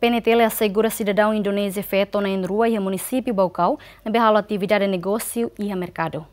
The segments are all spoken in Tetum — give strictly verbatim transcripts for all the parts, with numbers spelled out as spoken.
P N T L asegura sidadaun Indonézia feto na'in-rua iha munisípiu Baucau ne'ebé halo atividade negósiu iha merkadu.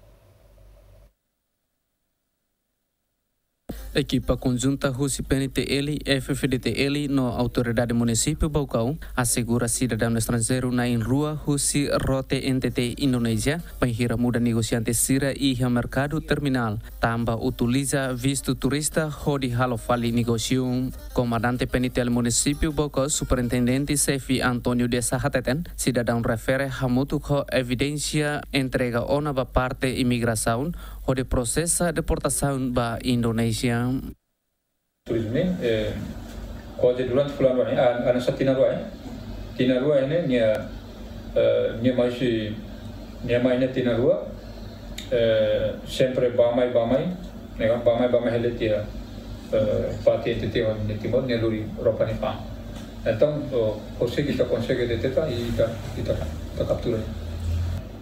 Ekipa konjunta husi P N T L, F F D T L no Autoridade Munisípiu Baucau asegura sidadaun estranjeiru na'in-rua husi Rote N T T Indonézia bainhira muda negosiante sira iha merkadu terminál, tanba utiliza vistu turista hodi halo fali negósiu. Komandante P N T L Munisípiu Baucau, Superintendente Xefe António Dessa hateten, sidadaun refere hamutuk ho evidénsia entrega ona ba parte imigrasaun hodi prosesa deportasaun ba Indonézia. Turizmu ne'e, eh, kuaze durante fulan rua ne'e, ah, hanesan tinan rua, eh. Tinan rua ne'e, nia, eh, nia mai husi, nia mai ne'e tinan rua, eh, sempre bá-mai, bá-mai, ne'e kan, bá-mai, bá-mai hela tiha, eh, parte N T T ho nia Timor, nia lori ropa nia fa'an. Entaun, oh, konsege, ita konsege deteta i ita, ita, ita kaptura.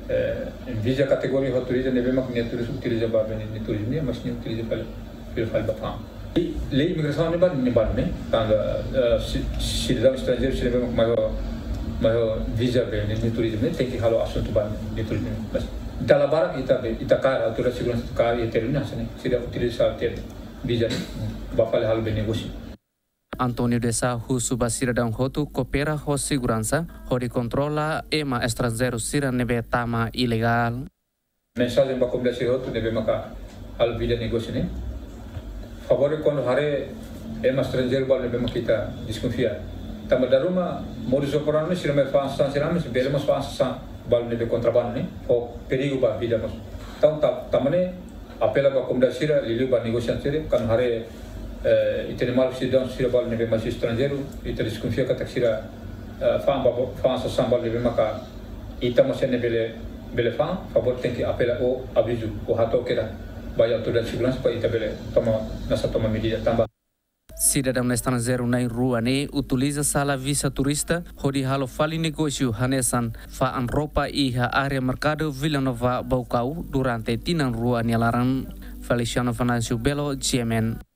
Eh, visa kategoria ho turizmu ne'ebé mak nia turis utiliza ba bene nia turizmu ne'e, mas nia utiliza fali, fali, fali ba fa'an. Lei, lei imigrasaun ne'e ba, ne'e ba ne'e, tanba, eh, si-, sidadaun estranjeiru sira ne'ebé mak mai ho, mai ho visa bene nia turizmu ne'e, tenke halo asuntu ba nia turizmu ne'e. Mas dala barak ita be, ita kaer, autoridade seguransa ita kaer iha terminál ne'e, sira utiliza sala tiha visa ne'e, bá fali halo bene negósiu. António Dessa husu ba sidadaun hotu koopera ho seguransa hodi kontrola ema estranjeiru sira ne'ebé tama ilegál. Mensajen ba komunidade sira hotu ne'ebé maka halo vida negósiu ne'e. Favór kuandu haree ema estranjeiru balu ne'ebé maka ita deskonfia. Tanba dala ruma modus operandi sira mai fa'an sasán sira, mas bele mós fa'an sasán balu ne'ebé kontrabandu ne'e. Ho perigu ba vida mós. Entaun, ta-, tanba ne'e apela ba komunidade sira, liuliu ba negosiante sira, kuandu haree, eh, ita-nia maluk sidadaun sira balu ne'ebé mai husi estranjeiru, ita deskonfia katak sira, eh, fa'an ba, fa'an sasán balu ne'ebé maka ita mós sente bele, bele fa'an, favór tenke apela ou avizu, ou hato'o kedas ba autoridade seguransa para ita bele toma, hanesan toma medida tanba. Sidadaun estranjeiru na'in-rua ne'e utiliza sala visa turista hodi halo fali negósiu hanesan fa'an ropa iha área merkadu Vila Nova Baucau durante tinan rua nia laran. Feliciano Venâncio Belo, G M N.